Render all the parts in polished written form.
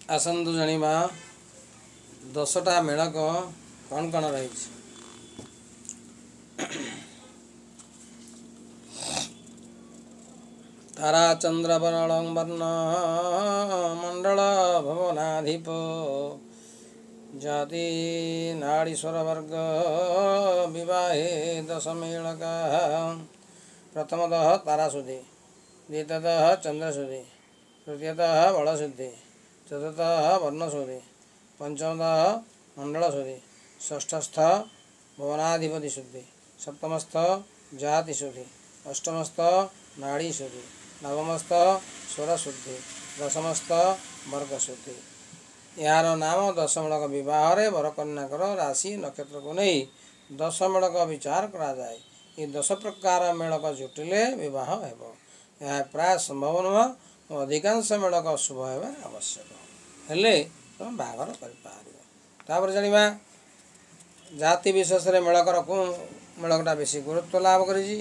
ଆସନ୍ତୁ ଜାଣିବା 10ଟା ମେଳକ କ'ଣ କ'ଣ ରହିଛି। ତାରା ଚନ୍ଦ୍ର ବରଳ ବର୍ଣ୍ଣ ମଣ୍ଡଳ ଭୁବନାଧିପ ଜାତି ନାଡ଼ୀ ସ୍ୱରବର୍ଗ ବିବାହେ ଦଶମେଳକ। ପ୍ରଥମତଃ ତାରାଶୁଦ୍ଧି, ଦ୍ୱିତୀୟତଃ ଚନ୍ଦ୍ରଶୁଦ୍ଧି, ତୃତୀୟତଃ ବଳଶୁଦ୍ଧି, ଚତୁର୍ଥତଃ ବର୍ଣ୍ଣଶୁଦ୍ଧି, ପଞ୍ଚମତଃ ମଣ୍ଡଳଶୁଦ୍ଧି, ଷଷ୍ଠସ୍ଥ ଭୁବନାଧିପତି ଶୁଦ୍ଧି, ସପ୍ତମସ୍ଥ ଜାତି ଶୁଦ୍ଧି, ଅଷ୍ଟମସ୍ଥ ନାଡ଼ୀ ଶୁଦ୍ଧି, ନବମସ୍ଥ ସ୍ୱରଶୁଦ୍ଧି, ଦଶମସ୍ଥ ବର୍ଗଶୁଦ୍ଧି। ଏହାର ନାମ ଦଶମେଳକ ବିବାହରେ ବରକନ୍ୟାଙ୍କର ରାଶି ନକ୍ଷତ୍ରକୁ ନେଇ ଦଶମେଳକ ବିଚାର କରାଯାଏ। ଏ 10 ପ୍ରକାର ମେଳକ ଜୁଟିଲେ ବିବାହ ହେବ। ଏହା ପ୍ରାୟ ସମ୍ଭବ ନୁହଁ। ଅଧିକାଂଶ ମେଳକ ଶୁଭ ହେବା ଆବଶ୍ୟକ ହେଲେ ତୁମେ ବାହାଘର କରିପାରିବ। ତାପରେ ଜାଣିବା ଜାତି ବିଶେଷରେ ମେଳକର କେଉଁ ମେଳକଟା ବେଶୀ ଗୁରୁତ୍ୱ ଲାଭ କରିଛି।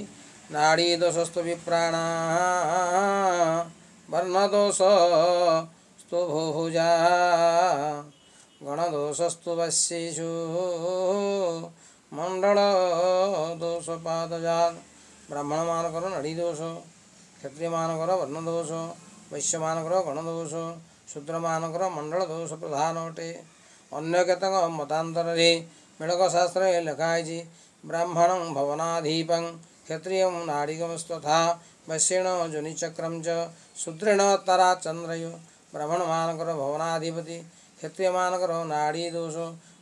ନାଡ଼ୀ ଦୋଷସ୍ତୁ ବିପ୍ରାଣ ବର୍ଣ୍ଣ ଦୋଷ ସ୍ତୁ ଭୁଜା ଗଣଦୋଷସ୍ତୁ ବଶ୍ୟେଷୁ ମଣ୍ଡଳ ଦୋଷ ପାଦଜାତ। ବ୍ରାହ୍ମଣମାନଙ୍କର ନାଡ଼ୀ ଦୋଷ, କ୍ଷତ୍ରିୟମାନଙ୍କର ବର୍ଣ୍ଣ ଦୋଷ, ବୈଶ୍ୟମାନଙ୍କର ଗଣଦୋଷ, ଶୂଦ୍ରମାନଙ୍କର ମଣ୍ଡଳ ଦୋଷ ପ୍ରଧାନ ଅଟେ। ଅନ୍ୟ କେତେକ ମତାନ୍ତରରେ ମେଳକ ଶାସ୍ତ୍ରରେ ଲେଖା ହେଇଛି, ବ୍ରାହ୍ମଣ ଭବନାଧୀପଂ କ୍ଷତ୍ରିୟಂ ନାଡ଼ିକମସ୍ତଥା ବୈଶ୍ୟେଣ ଯୋନିଚକ୍ରಂ ଚ ଶୂଦ୍ରେଣ ତାରା ଚନ୍ଦ୍ରୟ। ବ୍ରାହ୍ମଣମାନଙ୍କର ଭବନାଧିପତି, କ୍ଷତ୍ରିୟମାନଙ୍କର ନାଡ଼ୀ ଦୋଷ,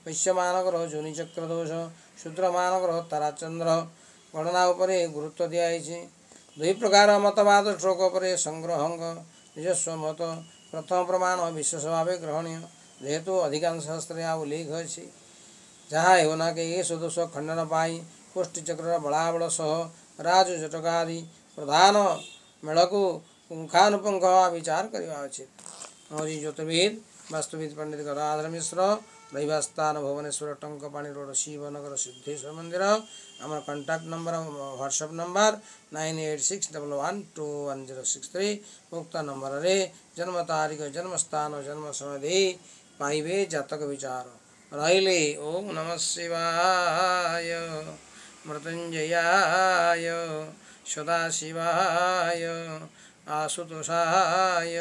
ବୈଶ୍ୟମାନଙ୍କର ଯୋନିଚକ୍ର ଦୋଷ, ଶୂଦ୍ରମାନଙ୍କର ତାରାଚନ୍ଦ୍ର ଗଣନା ଉପରେ ଗୁରୁତ୍ୱ ଦିଆଯାଇଛି। ଦୁଇ ପ୍ରକାର ମତବାଦ ଶ୍ଳୋକ ଉପରେ ସଂଗ୍ରହଙ୍କ ନିଜସ୍ୱ ମତ। ପ୍ରଥମ ପ୍ରମାଣ ବିଶେଷ ଭାବେ ଗ୍ରହଣୀୟ, ଯେହେତୁ ଅଧିକାଂଶ ଶାସ୍ତ୍ରରେ ଏହା ଉଲ୍ଲେଖ ଅଛି। ଯାହା ହେଉନା କି ଏ ଦୋଷ ଖଣ୍ଡନ ପାଇଁ କୋଷ୍ଠୀଚକ୍ରର ବଳାବଳ ସହ ରାଜ ଜଟକ ଆଦି ପ୍ରଧାନ ମେଳକୁ ପୁଙ୍ଖାନୁପୁଙ୍ଖ ବିଚାର କରିବା ଉଚିତ। ମୁଁ ଜ୍ୟୋତିର୍ବିଦ ବାସ୍ତୁବିଦ ପଣ୍ଡିତ ଗଦାଧର ମିଶ୍ର, ରହିବା ସ୍ଥାନ ଭୁବନେଶ୍ୱର ଟଙ୍କପାଣି ରୋଡ଼ ଶିବନଗର ସିଦ୍ଧେଶ୍ୱର ମନ୍ଦିର। ଆମର କଣ୍ଟାକ୍ଟ ନମ୍ବର ହ୍ୱାଟ୍ସଆପ୍ ନମ୍ବର 9861121063। ଉକ୍ତ ନମ୍ବରରେ ଜନ୍ମ ତାରିଖ, ଜନ୍ମସ୍ଥାନ, ଜନ୍ମ ସମୟ ଦେଇ ପାଇବେ ଜାତକ ବିଚାର। ରହିଲି। ଓಂ ନମ ଶିବାୟ, ମୃତ୍ୟୁଞ୍ଜୟାୟ, ସଦାଶିବାୟ, ଆଶୁତୋଷାୟ,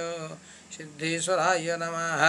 ସିଦ୍ଧେଶ୍ୱରାୟ ନମଃ।